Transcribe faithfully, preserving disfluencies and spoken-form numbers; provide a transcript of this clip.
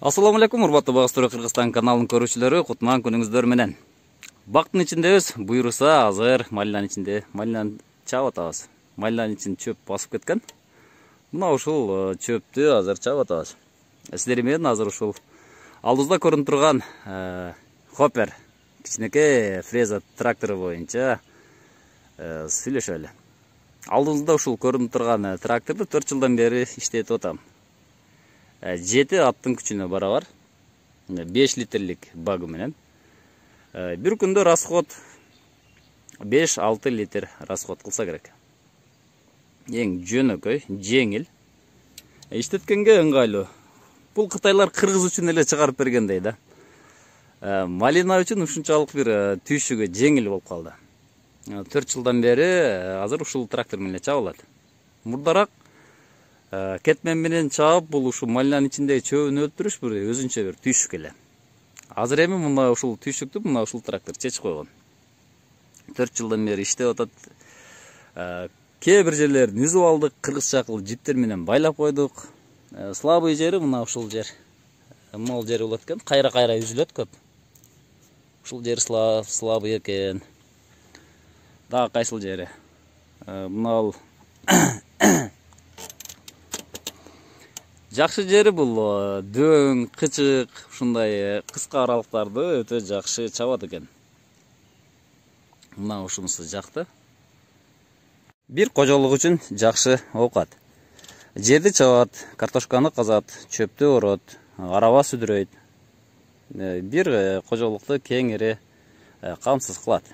Ассаламу алейкум, урматтуу Багыстыруу Кыргызстан каналынын көрүүчүлөрү, кутман күнүңүздөр менен. Бактын ичиндебиз, буйруса азыр малинанын ичинде малинаны чаап атабыз. Малинанын ичин чөп басып кеткен. Мына ушул чөптү азыр чаап атабыз. Сиздер менен азыр ушул алдыбызда көрүнүп турган хоппер, кичинекей фреза трактору боюнча сүйлөшөлү. Алдыбызда ушул көрүнүп турган тракторду төрт жылдан бери иштетип атам. жети аттын күчүнө барабар, беш литрлик багы менен. Бир күндө расход беш алты литр расход кылса керек. Эң жөнөкөй, жеңил, иштеткенге ыңгайлуу. Бул кытайлар кыргыз үчүн эле чыгарып бергендей да. Малина үчүн ушунчалык бир түйшүгү жеңил болуп калды. төрт жылдан бери азыр ушул трактор менен чабылат. Мурдараак кетмен менен чаап, бул ушу малинанын ичиндеги чөбүн өлтүрүш бир өзүнчө бир түйшүк эле. Азыр эми мына ушул түйшүктү мына ушул трактор чечип койгон. төрт жылдан бери иштеп атат. Кээ бир жерлерин үзүп алдык, кыргыз чакыл жиптер менен байлап койдук. Слабый жери мына ушул жер. Мол жери болот экен, кайра-кайра үзүлөт көп. Ушул жер слабый экен. Дагы кайсыл жери? Мына жакшы жери бул дөң, кычык, ушундай кыска аралыктарды өтө жакшы чабат экен. Мына ушунусу жакты. Бир кожолук үчүн жакшы оокат. Жерди чабат, картошканы казат, чөптү орот, араба сүдүрөйт. Бир кожолукту кеңири камсыз кылат.